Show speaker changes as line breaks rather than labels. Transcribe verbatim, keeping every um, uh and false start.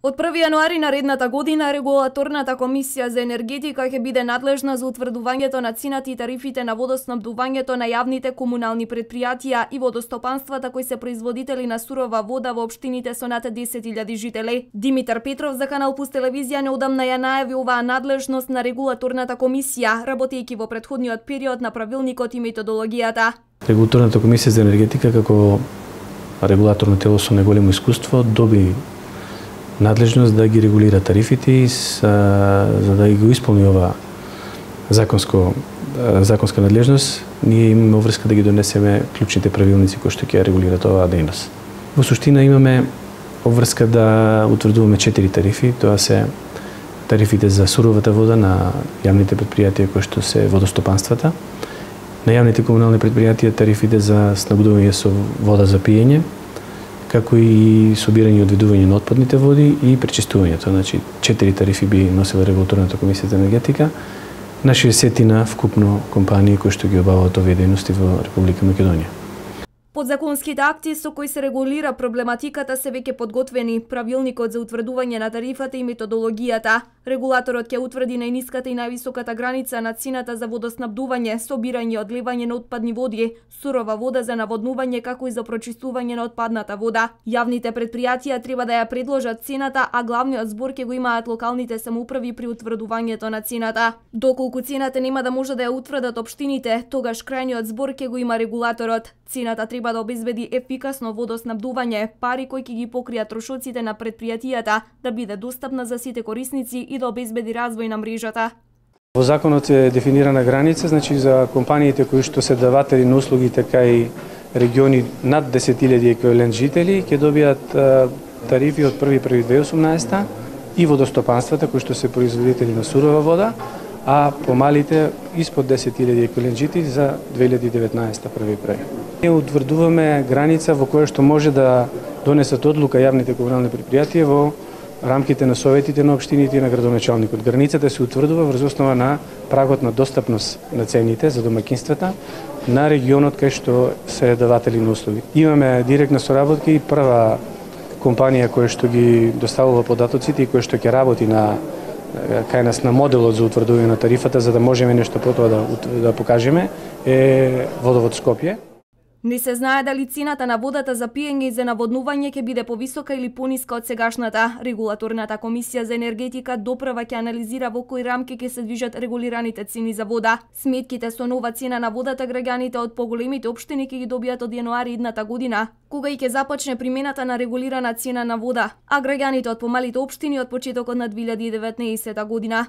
Од први јануари наредната година Регулаторната комисија за енергетика ќе биде надлежна за утврдувањето на цената и тарифите на водоснабдувањето на јавните комунални предпријатија и водостопанствата кои се производители на сурова вода во општините со над десет илјади жители. Димитар Петров за Канал Плюс телевизија неодамна ја најави оваа надлежност на Регулаторната комисија, работејќи во претходниот период на правилникот и методологијата.
Регулаторната комисија за енергетика како регулаторно тело со најголемо искуство доби надлежност да ги регулира тарифите и за да ги го исполни ова законско законска надлежност, ние имаме обврска да ги донесеме клучните правилници кои што ќе регулираат оваа дејност. Во суштина имаме обврска да утврдуваме четири тарифи, тоа се тарифите за суровата вода на јавните предпријатија кои што се водостопанствата, на јавните комунални предпријатија тарифите за снабдување со вода за пиење, како и собирање и одведување на отпадните води и пречистувањето. Значи, четири тарифи би носила Регулаторната комисија за енергетика на шеесет вкупно компании кои што ги обаваат овие дејности во Република Македонија.
Подзаконските акти со кои се регулира проблематиката се веќе подготвени, правилникот за утврдување на тарифата и методологијата. Регулаторот ќе утврди најниската и највисоката граница на цената за водоснабдување, собирање и одливање на отпадни води, сурова вода за наводнување како и за прочистување на отпадната вода. Јавните предпријатија треба да ја предложат цената, а главниот збор ќе го имаат локалните самоуправи при утврдувањето на цената. Доколку цената нема да може да ја утврдат општините, тогаш крајниот збор ќе го има регулаторот. Цената треба да обезбеди ефикасно водоснабдување, пари кои ќе ги покријат трошоците на предпријатијата, да биде достапна за сите корисници и да обезбеди развој на мрежата.
Во законот е дефинирана граница, значи за компаниите кои што се даватели на услуги, така и региони над десет илјади еквивалент жители, ќе добијат тарифи од први први две илјади и осумнаесета и водостопанствата кои што се производители на сурова вода, а помалите испод десет илјади еквивалент жители за две илјади и деветнаесета први први. Ние утврдуваме граница во која што може да донесат одлука јавните комунални предпријатија во рамките на советите на општините и на градоначалникот. Границата се утврдува врз основа на прагот на достапност на цените за домаќинствата на регионот кај што се даватели на услуги. Имаме директна соработка и прва компанија која што ги доставува податоците и која што ќе работи на кај нас на моделот за утврдување на тарифата за да можеме нешто потоа да, да покажеме е Водовод Скопје.
Не се знае дали цената на водата за пиење и за наводнување ќе биде повисока или пониска од сегашната. Регулаторната комисија за енергетика допрва ќе анализира во кои рамки ќе се движат регулираните цени за вода. Сметките со нова цена на водата граѓаните од поголемите општини ќе ги добијат од јануари идната година, кога и ќе започне примената на регулирана цена на вода, а граѓаните од помалите општини од почетокот на две илјади и деветнаесета година.